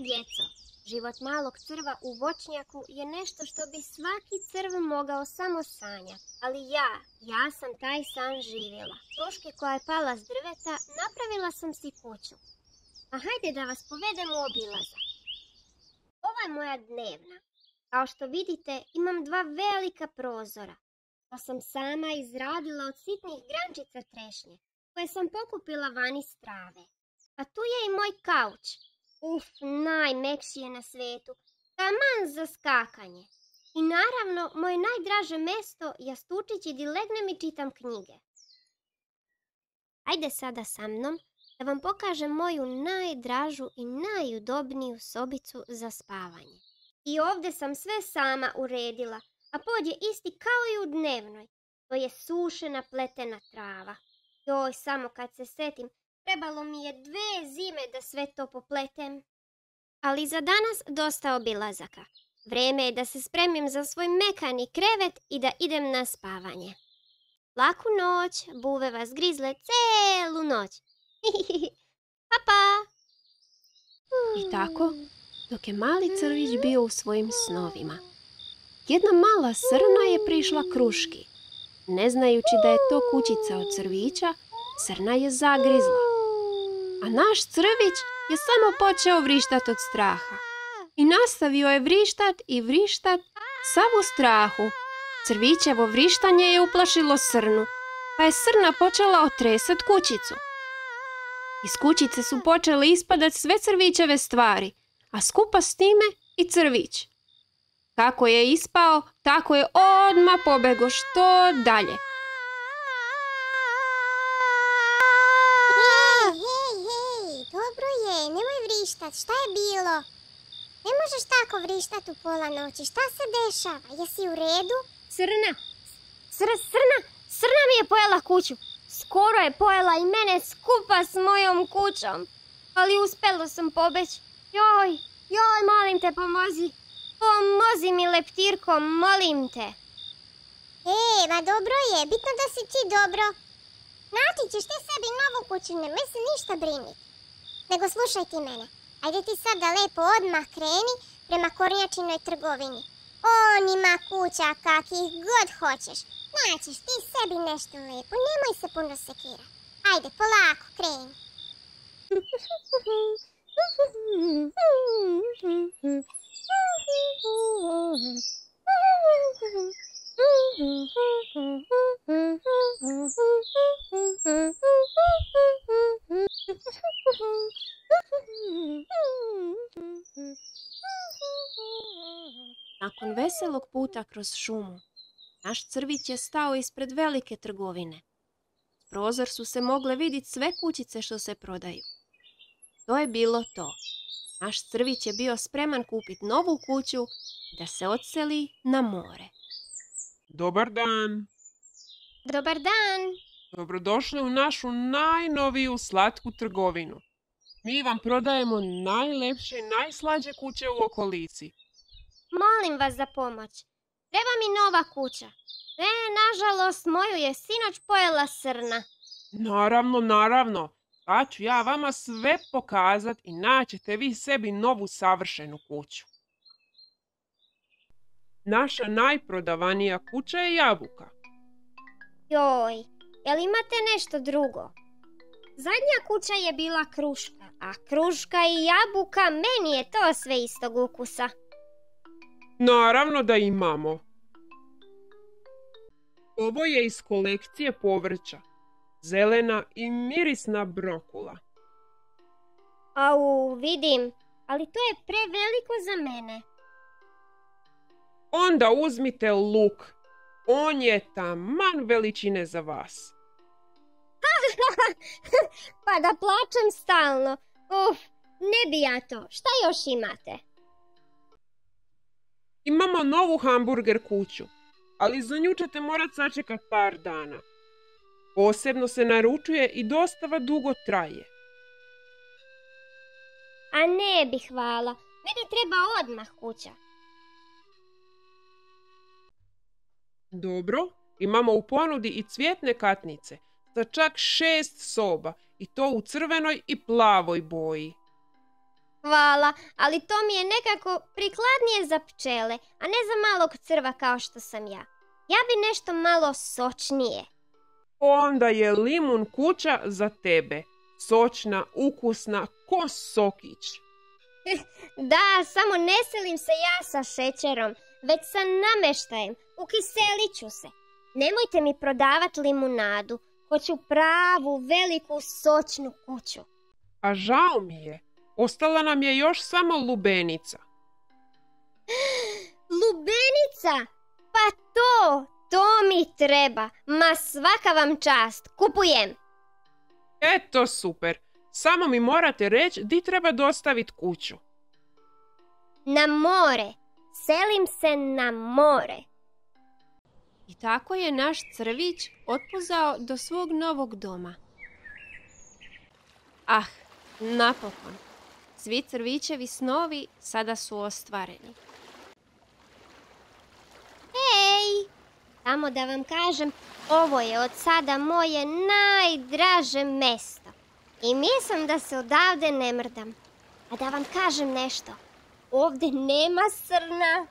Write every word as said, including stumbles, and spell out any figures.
djeco, život malog crva u voćnjaku je nešto što bi svaki crv mogao samo sanjati. Ali ja, ja sam taj san živjela. Kruške koja je pala s drveta, napravila sam si kuću. A hajde da vas povedem u obilazak. Ova je moja dnevna. Kao što vidite, imam dva velika prozora. To sam sama izradila od sitnih grančica trešnje, koje sam pokupila van iz trave. A tu je i moj kauč. Uf, najmekši je na svetu. Taman za skakanje. I naravno, moje najdraže mesto, jastučići di legnem i čitam knjige. Ajde sada sa mnom da vam pokažem moju najdražu i najudobniju sobicu za spavanje. I ovdje sam sve sama uredila, a pod je isti kao i u dnevnoj. To je sušena pletena trava. Joj, samo kad se setim, trebalo mi je dve zime da sve to popletem. Ali za danas dosta obilazaka. Vreme je da se spremim za svoj mekani krevet i da idem na spavanje. Laku noć, buve vas grizle celu noć. Pa pa! I tako, dok je mali crvić bio u svojim snovima, jedna mala srna je prišla kruški. Ne znajući da je to kućica od crvića, srna je zagrizla. A naš crvić je samo počeo vrištat od straha. I nastavio je vrištat i vrištat sav u strahu. Crvićevo vrištanje je uplašilo srnu, pa je srna počela otresat kućicu. Iz kućice su počele ispadat sve crvićeve stvari, a skupa s time i crvić. Kako je ispao, tako je odmah pobego što dalje. Hej, hej, hej, dobro je, nemoj vrištat, šta je bilo? Ne možeš tako vrištat u pola noći, šta se dešava, jesi u redu? Srna, sr, srna, srna mi je pojela kuću. Skoro je pojela i mene skupa s mojom kućom. Ali uspjela sam pobeći. Joj, joj, molim te, pomozi. Pomozi mi, leptirko, molim te. E, ma dobro je, bitno da si ti dobro. Naći ćeš ti sebi novu kuću, nemoj se ništa briniti. Nego slušaj ti mene, ajde ti sada lepo odmah kreni prema kornjačinoj trgovini. On ima kuća kakih god hoćeš. Naćeš ti sebi nešto lepo, nemoj se puno sekirati. Ajde, polako, kreni. Nakon veselog puta kroz šumu, naš crvić je stao ispred velike trgovine. S prozor su se mogle vidjeti sve kućice što se prodaju. To je bilo to. Naš crvić je bio spreman kupiti novu kuću da se odseli na more. Dobar dan. Dobar dan. Dobrodošli u našu najnoviju slatku trgovinu. Mi vam prodajemo najlepše i najslađe kuće u okolici. Molim vas za pomoć. Treba mi nova kuća. E, nažalost, moju je sinoć pojela srna. Naravno, naravno. Pa ću ja vama sve pokazat i naćete vi sebi novu savršenu kuću. Naša najprodavanija kuća je jabuka. Joj, jel imate nešto drugo? Zadnja kuća je bila kruška, a kruška i jabuka, meni je to sve istog ukusa. Naravno da imamo. Ovo je iz kolekcije povrća. Zelena i mirisna brokula. Au, vidim, ali to je preveliko za mene. Onda uzmite luk. On je taman veličine za vas. Pa da plačem stalno. Uf, ne bi ja to. Šta još imate? Imamo novu hamburger kuću, ali za nju ćete morat sačekat par dana. Posebno se naručuje i dostava dugo traje. A ne bi, hvala. Meni treba odmah kuća. Dobro, imamo u ponudi i cvjetne katnice za čak šest soba i to u crvenoj i plavoj boji. Hvala, ali to mi je nekako prikladnije za pčele, a ne za malog crva kao što sam ja. Ja bi nešto malo sočnije. Onda je limun kuća za tebe. Sočna, ukusna, ko sokić. Da, samo ne selim se ja sa šećerom, već sa nameštajem. Ukiselit ću se. Nemojte mi prodavati limunadu. Hoću pravu, veliku, sočnu kuću. A žao mi je. Ostala nam je još samo lubenica. Lubenica? Pa to, to mi treba. Ma svaka vam čast. Kupujem. Eto super. Samo mi morate reći di treba dostaviti kuću. Na more. Selim se na more. I tako je naš crvić otpuzao do svog novog doma. Ah, napokon. Svi crvićevi snovi sada su ostvareni. Hej! Samo da vam kažem, ovo je od sada moje najdraže mesto. I mislim da se odavde ne mrdam. A da vam kažem nešto, ovdje nema srna.